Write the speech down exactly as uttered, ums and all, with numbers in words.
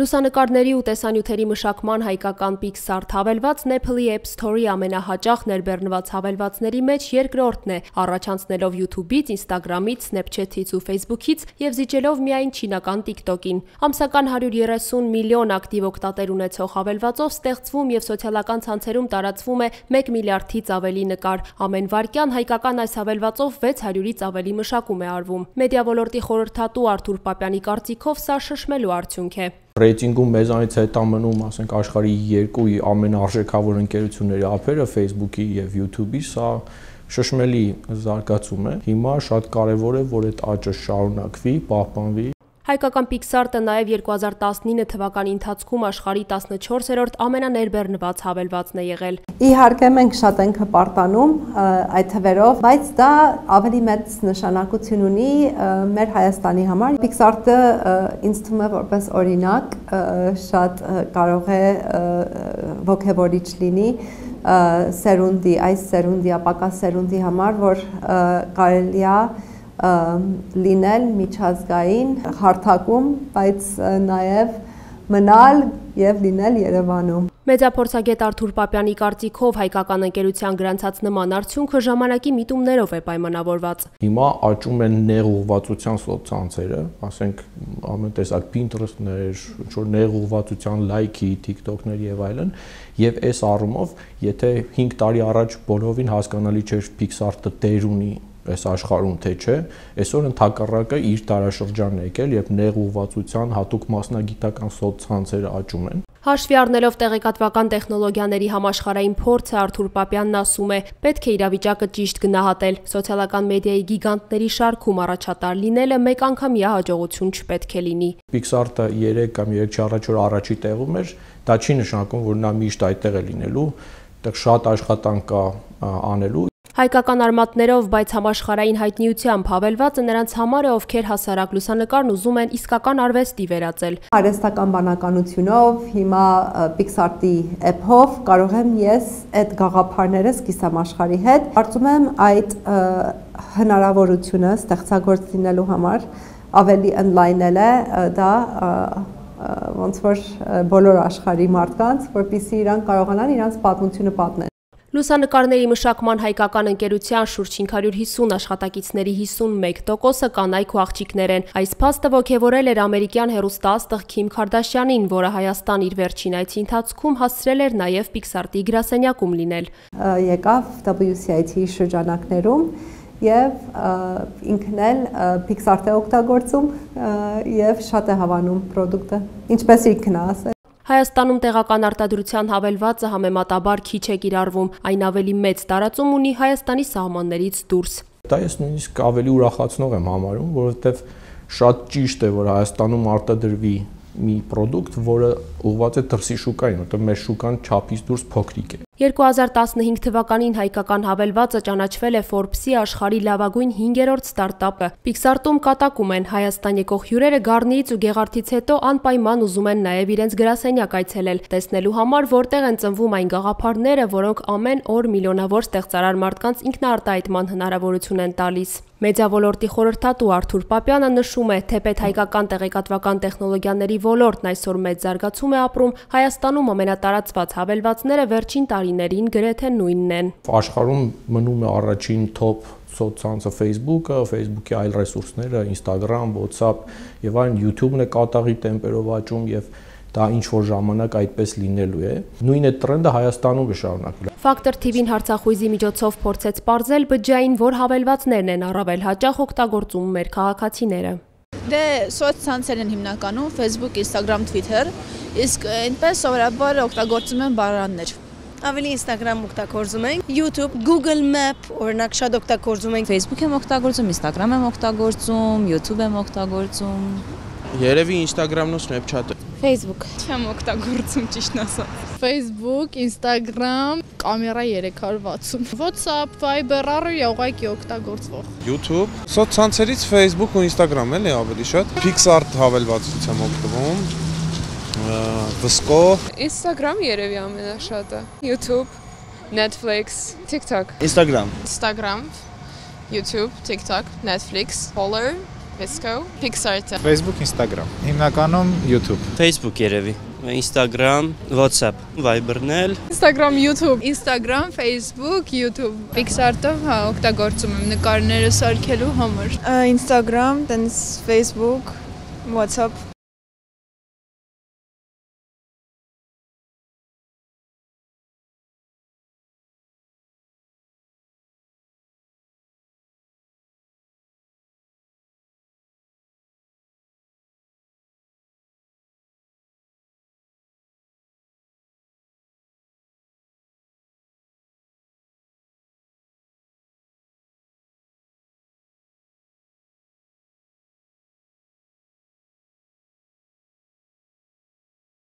Լուսանկարների ու տեսանյութերի մշակման հայկական Pixart հավելվածն Apple-ի App Store-ի ամենահաճախ ներբեռնված հավելվածների մեջ երկրորդն է, առաջանցնելով YouTube-ից, Instagram-ից, Snapchat-ից ու Facebook-ից և զիջելով միայն չինական TikTok-ին։ Ամսական հարյուր երեսուն միլիոն ակտիվ օգտատեր ունեցող հավելվածով ստեղծվում և սոցիալական ցանցերում տարածվում է մեկ միլիարդից ավելի նկար։ Ամեն վայրկյան հայկական այս հավելվածով վեց հարյուրից ավելի մշակում է արվում։ Մեդիա ոլորտի խորհրդատու Արթուր Պապյանի կարծիքով սա շշմելու արդյունք է։ Ռեյտինգում մեզանից հետ ամնում, ասենք, աշխարհի երկու ամենարժեքավոր ընկերությունների ափերը Facebook-ի եւ YouTube-ի, սա շշմելի զարգացում է։ Հիմա շատ կարեւոր է, որ այդ աճը շարունակվի, պահպանվի։ Հայկական Pixart-ը նաև երկու հազար տասնինը թվականի ընթացքում աշխարհի տասնչորսերորդ ամենաներբեռնված հավելվածն է եղել։ Իհարկե մենք շատ ենք հպարտանում այդ թվերով, բայց դա ավելի մեծ նշանակություն ունի մեր Հայաստանի համար։ Pixart-ը ինձ թվում է որպես օրինակ շատ կարող է ոգևորիչ լինի սերունդի, այս սերունդի, ապակա սերունդի համար, որ կարելի է լինել միջազգային հարթակում, բայց նաև մնալ և լինել Երևանում։ Մեդիափորձագետ Արթուր Պապյանի կարծիքով հայկական ընկերության գրանցած նման արդյունքը ժամանակի միտումներով է պայմանավորված։ Հիմա աճում են նեղուղղվածության սոցցանցերը, ասենք ամեն տեսակ Pinterest-ներ, ինչ-որ նեղուղղվածության լայքի, TikTok-ներ եւ այլն, եւ այս առումով, եթե հինգ տարի առաջ բոլորովին հասկանալի չէր Pixart-ը տեր ունի այս աշխարհում թե չէ, այսօր ընդհակառակը իր տարաշրջանն է եկել, երբ նեղուղղվածության հատուկ մասնագիտական սոցցանցերը աճում են։ Հաշվի առնելով տեղեկատվական տեխնոլոգիաների համաշխարհային փորձը, Արթուր Պապյանն ասում է, պետք է իրավիճակը ճիշտ գնահատել։ Սոցիալական մեդիայի գիգանտների շարքում առաջատար լինելը մեկ անգամյա հաջողություն չպետք է լինի։ Pixart-ը երեք կամ երեք չառաջ օր առաջի տեղում էր, դա չի նշանակում, որ նա միշտ այդտեղ է լինելու, այդտեղ շատ աշխատանք կա անելու։ Հայկական արմատներով, բայց համաշխարհային հայտնիությամբ հավելվածը նրանց համար է, ովքեր հասարակ լուսանկարն ուզում են իսկական արվեստի վերածել։ Արհեստական բանականությունով, հիմա Pixart-ի app-ով կարող եմ ես այդ գաղափարները սկսեմ աշխարհի հետ։ Կարծում եմ այդ հնարավորությունը ստեղծագործ լինելու համար ավելի ընդլայնել է դա ոնց որ բոլոր աշխարհի մարդկանց, որպեսզի իրանք կարողանան իրանց պատմությունը պատմել։ Լուսանկարների մշակման հայկական ընկերության շուրջ հինգ հարյուր հիսուն աշխատակիցների հիսունմեկ տոկոսը կանայք ու աղջիկներ են։ Այս փաստը ոգևորել էր ամերիկյան հեռուստաաստղ Քիմ Քարդաշյանին, որը Հայաստան իր վերջին այցի ընթացքում հասցրել էր նաև Pixart-ի գրասենյակում լինել։ Եկավ W C I T շրջանակներում եւ ինքն էլ Pixart-ը օգտագործում եւ շատ է հավանում պրոդուկտը, ինչպես ինքն է ասել։ Հայաստանում տեղական արտադրության հավելվածը համեմատաբար քիչ է կիրառվում, այն ավելի մեծ տարածում ունի Հայաստանի սահմաններից դուրս։ Դա ես նույնիսկ ավելի ուրախացնող եմ համարում, որովհետև շատ ճիշտ է, որ Հայաստանում արտադրվի մի պրոդուկտ, որը ուղղված է դրսի շուկային, որտեղ մեր շուկան չափից դուրս փոքրիկ է։ երկու հազար տասնհինգ թվականին հայկական հավելվածը ճանաչվել է Forbes-ի աշխարհի լավագույն հինգերորդ ստարտափը։ Pixart-ում կատակում են Հայաստան եկող հյուրերը Գառնիից ու Գեղարդից հետո անպայման ուզում են նաև իրենց գրասենյակ այցելել, տեսնելու համար, որտեղ են ծնվում այն գաղափարները, որոնք ամեն օր միլիոնավոր ստեղծարար մարդկանց ինքնաարտահայտման հնարավորություն են տալիս։ Մեդիա ոլորտի խորհրդատու Արթուր Պապյանը նշում է, թեպետ հայկական տեղեկատվական տեխնոլոգիաների ոլորտն այսօր մեծ զարգացում է ապրում, Հայաստանում ամենատարածված հավելվածները վերջին տարիներին գրեթե նույնն են։ Աշխարհում մնում է առաջին top սոցցանցը Facebook-ը, Facebook-ի այլ ռեսուրսները, Instagram, WhatsApp եւ այլն, YouTube-ն է կատաղի տեմպերով աճում եւ դա ինչ որ ժամանակ այդպես լինելու է։ Նույն այդ տրենդը Հայաստանում կշարունակվի։ Factor T V-ն հարցախույզի միջոցով փորձեց պարզել բջջային, որ հավելվածներն են առավել հաճախ օգտագործում մեր քաղաքացիները։ Դե սոցցանցերն են հիմնականում Facebook, Instagram, Twitter, իսկ այնպես սովորաբար օգտագործում են բառարաններ։ Ավելի Instagram օգտագործում ենք, YouTube, Google Map, օրինակ շատ օգտագործում ենք, Facebook եմ օգտագործում, Instagram եմ օգտագործում, YouTube եմ օգտագործում։ Երևի Instagram-ն ու Snapchat-ը։ Facebook չեմ օգտագործում ճիշտն ասած։ Facebook, Instagram, կամերա երեք հարյուր վաթսուն, WhatsApp, Viber, առօրյա ուղղակի օգտագործվող։ YouTube, սոցցանցերից Facebook ու Instagram էլի ավելի շատ։ Pixart հավելվածից եմ օգտվում։ Վսկո, Instagram երևի ամենաշատը, YouTube, Netflix, TikTok, Instagram, Instagram, YouTube, TikTok, Netflix, Follow, Pisco, PixArt-ը։ Facebook, Instagram, հիմնականում YouTube, Facebook երևի, Instagram, WhatsApp, Viber-ն, Instagram, YouTube, Instagram, Facebook, YouTube, PixArt-ով հա օգտագործում եմ նկարները սարքելու համար։ Instagram, տենց Facebook, WhatsApp